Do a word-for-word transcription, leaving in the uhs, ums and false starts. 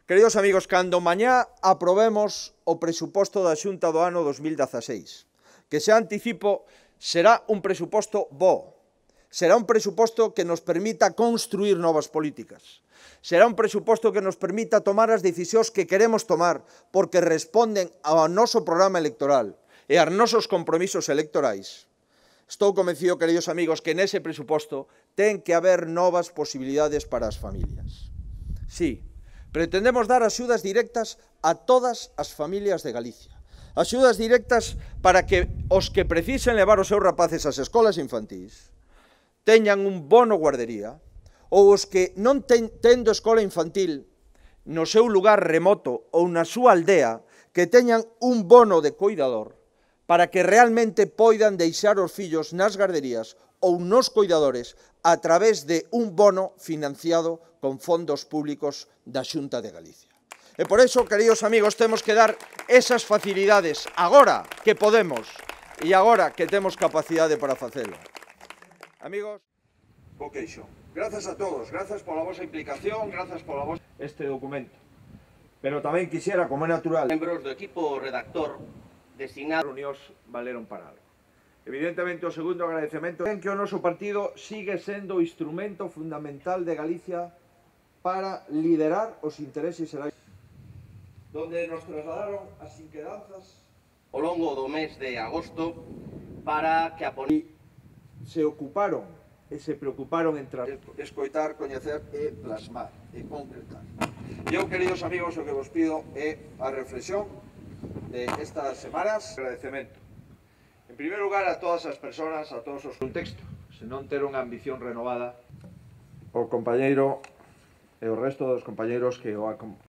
Queridos amigos, cando mañá aprobemos o presuposto da Xunta do ano dos mil dezaseis, que xa anticipo, será un presuposto bo, será un presuposto que nos permita construir novas políticas, será un presuposto que nos permita tomar as decisións que queremos tomar porque responden ao noso programa electoral e aos nosos compromisos electorais. Estou convencido, queridos amigos, que nese presuposto ten que haber novas posibilidades para as familias. Sí, pretendemos dar axudas directas a todas as familias de Galicia. Axudas directas para que os que precisen levar os seus rapaces ás escolas infantís teñan un bono guardería, ou os que non ten, tendo escola infantil no seu lugar remoto ou na súa aldea, que teñan un bono de coidador para que realmente poidan deixar os fillos nas garderías ou nos coidadores a través de un bono financiado con fondos públicos da Xunta de Galicia. E por iso, queridos amigos, temos que dar esas facilidades agora que podemos e agora que temos capacidade para facelo. Amigos, bo queixo. Grazas a todos, grazas pola vosa implicación, grazas pola vosa este documento. Pero tamén quixera, como é natural, Membros do equipo redactor designado reunións valeron para algo. Evidentemente, o segundo agradecemento é que o noso partido sigue sendo o instrumento fundamental de Galicia para liderar os intereses xerais, donde nos trasladaron as inquedanzas ao longo do mes de agosto para que a e se ocuparon e se preocuparon en escoitar, coñecer e plasmar e concretar. E eu, queridos amigos, o que vos pido é a reflexión de estas semanas. Agradecemento. En primeiro lugar, a todas as persoas, a todos os contextos, se non ter unha ambición renovada, o compañeiro e o resto dos compañeiros que o